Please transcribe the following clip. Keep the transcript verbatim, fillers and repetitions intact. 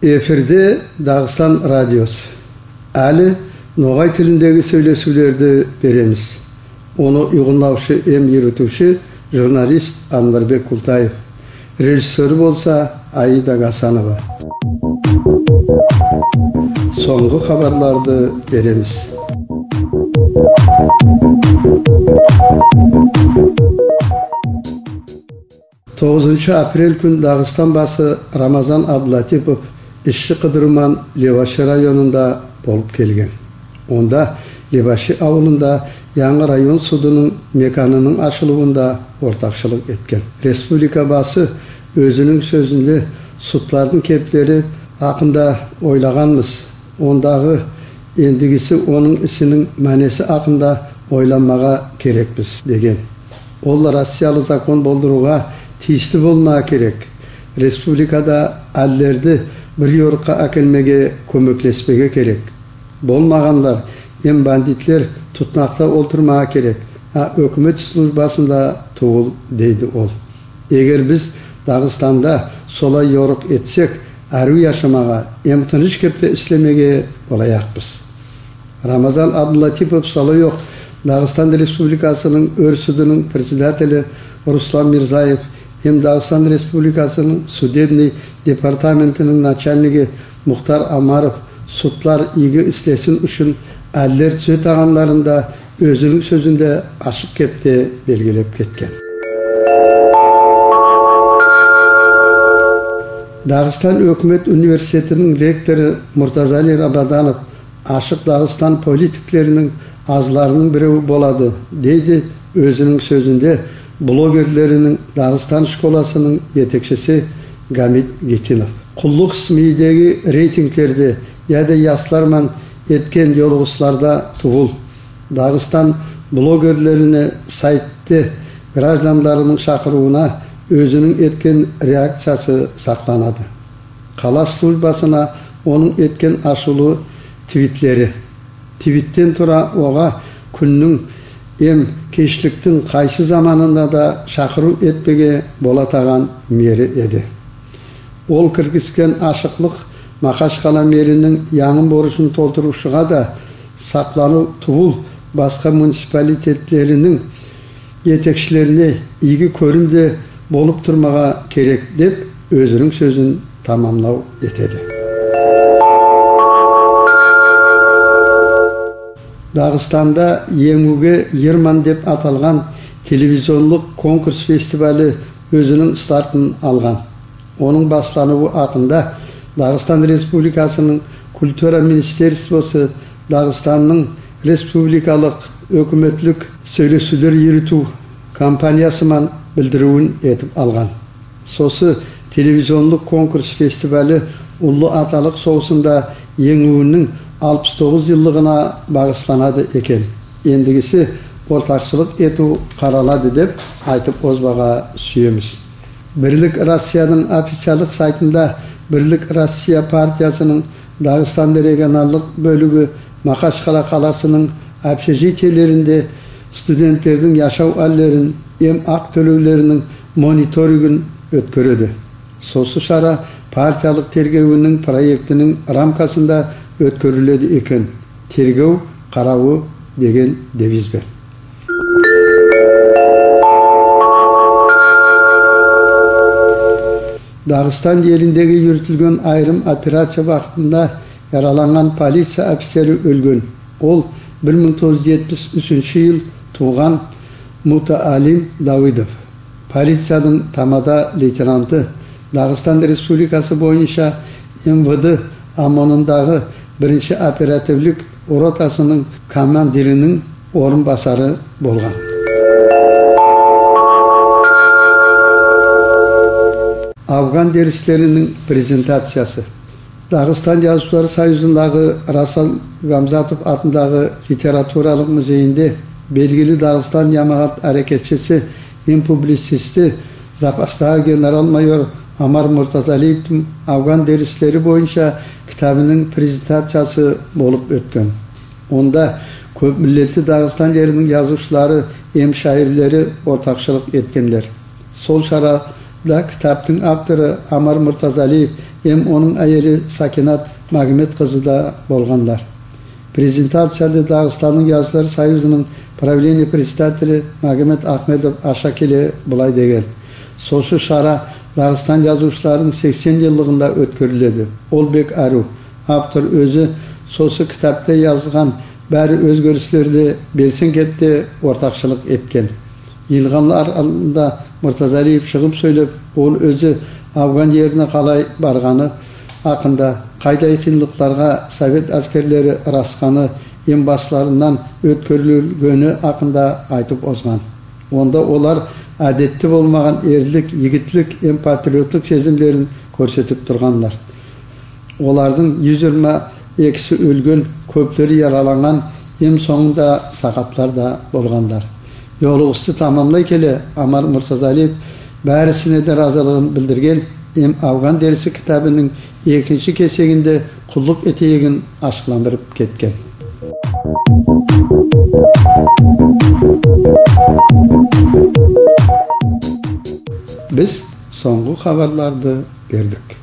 Эфирде Дагъыстан радиосу. Гьали ногъай тилиндеги сёйлешивлерди беребиз. Ону уьйгюнлевши эм юрютювчю журналист Анварбек Култаев. Режиссёру болса Аида Гасанова. Сонггъу хабарларды беребиз. Тогъузунчу апрель гюн Дагъыстан башы Рамазан Абдулатипов ишчи къыдырман Леваши районунда болуп гелген. Онда, Леваши авулунда, янгы район судунунг меканынынг ачылывунда ортакъчылыкъ этген. Республика башы оьзюнюнг сёзюнде судлардынг кеплери гьакъында ойлагъанбыз. Ондагъы, эндигиси онунг ишининг маънеси гьакъында ойланмагъа герекбиз, деген. Ол россиялы закон болдурувгъа тийишли болмагъа герек. Республикада адлерди бир ёрукъгъа экелмеге кёмеклешмеге герек. Болмагъанлар эм бандитлер тутмакъда олтурмагъа герек, а гьукумат службасында тюгюл, дейди ол. Эгер биз Дагъыстанда солай ёрукъ этсек, арив яшамагъа эм тыныш кепде ишлемеге болаякъбыз. Рамазан Абдулатипов солай окъ Дагъыстан Республикасынынг оьр судунунг председатели Руслан Мирзаев эм Дагъыстан Республикасынынг судебный департаментининг начальниги Мухтар Омаров судлар ийги ишлесин учун адлер тюзетагъанларын да оьзюнюнг сёзюнде ачыкъ кепде белгилеп гетген. Дагъыстан гьукумат университетининг ректору Муртазали Рабаданов ашыкъ Дагъыстан политиклерининг азларынынг бирев болады, дейди оьзюнюнг сёзюнде блогерлерининг Дагъыстан школасынынг етекчиси Гамит Гетинов. Къуллукъ СМИ-деги рейтинглерде яда яслар ман этген ёлугъушларда тюгюл, Дагъыстан блогерлерине сайтда гражданларынынг чакъырывуна оьзюнюнг этген реакциясы сакъланады. Къала службасына онунг этген ашувлу твитлери. Твитден тура огъа гюнню эм гечликни къайсы заманында да чакъырыв этмеге болатагъан мери эди. Ол киргизген ашыкълыкъ Магьачкъала мерининг янгы борчун толтурувчугъа да сакъланыв тюгюл, башгъа муниципалитетлерининг етекчилерине ийги гёрюм де болуп турмагъа герек, деп оьзюнюнг сёзюн тамамлав этеди. Дагъыстанда «Енгивге йырман» деп аталгъан телевизионлукъ конкурс-фестивалы оьзюнюнг стартын алгъан. Онунг башланыву гьакъында Дагъыстан Республикасынынг Культура министерствосу Дагъыстаннынг республикалыкъ гьукуматлыкъ сёйлешивлер юрютюв компаниясы ман билдиривюн этип алгъан. Сосы телевизионлукъ конкурс-фестивалы Уллу Аталыкъ согъушунда енгивню алпыс тогъуз йыллыгъына багъышланады экен. Эндигиси ортакъчылыкъ этив къаралады деп айтып озмагъа сюебиз. «Бирлик Россия»ны официаллыкъ сайтында «Бирлик Россия» партиясынынг Дагъыстан регионаллыкъ бёлюгю Магьачкъала къаласынынг общежитиелеринде студентлердинг яшав гьалларын эм акъ тёлевлерининг мониторингин оьтгереди. Сосы чара партиялыкъ тергевню проектининг рамкасында оьтгериледи экен. Тергев къараву деген девиз бен. Дагъыстан ериндеги юрютюлген айрым операция вакътинде яралангъан полиция офицери оьлген. Ол бир минг тогъуз юз етмиш уьчюнчю йыл тувгъан Мутаалим Давыдов. Полициядынг тамада лейтенанты, Дагъыстан Республикасы боюнча М В Д ОМОН-ундагъы биринчи оперативлик ротасынынг командирининг орунбасары болгъан. Афгъан дерислерининг презентациясы. Дагъыстан язывчулар союзундагъы Расул Гамзатов атындагъы литературалыкъ музейинде белгили Дагъыстан ямагъат гьаракатчысы эм публицисти, запасдагъы генерал-майор Омар Муртазалиевни афгъан дерислери боюнча китабынынг презентациясы болуп оьтген. Онда кёп миллетли Дагъыстан ерининг язывчулары эм шаирлери ортакъчылыкъ этгенлер. Сол чарада китапдынг автору Омар Муртазалиев эм онунг аели Сакинат Магьаммет къызы да болгъанлар. Презентацияда Дагъыстанның язывчулар союзунунг правление председатели Магьаммет Ахмедов Ашакеле булай деген: «Сосы шара Дагъыстан язывчуларынынг сексен йыллыгъында оьтгериледи. Ол бек арив. Автор оьзю сосы китапда язгъан бары оьзгерислерде белсен гетди ортакъчылыкъ этген». Йыйылгъанлар алдында Муртазалиев чыгъып сёйлеп, ол оьзю Афгъан ерине къалай баргъаны гьакъында, къайдай къыйынлыкъларгъа совет аскерлери расгъаны эм басларындан оьтгерилгени гьакъында айтып озгъан. Онда олар адетде болмагъан эрлик, йигитлик эм патриотлукъ сезимлерин гёрсетип тургъанлар. Олардынг юз йигирма экиси оьлген, кёплери яралангъан эм сонгунда сакъатлар да болгъанлар. Ёлугъусу тамамлай геле, Омар Муртазалиев барисине де разилигин билдирген эм «Афгъан дерси» китабынынг экинчи кесегинде къуллукъ этегенин ачыкъландырып гетген. Биз сонггъу хабарланы бердик.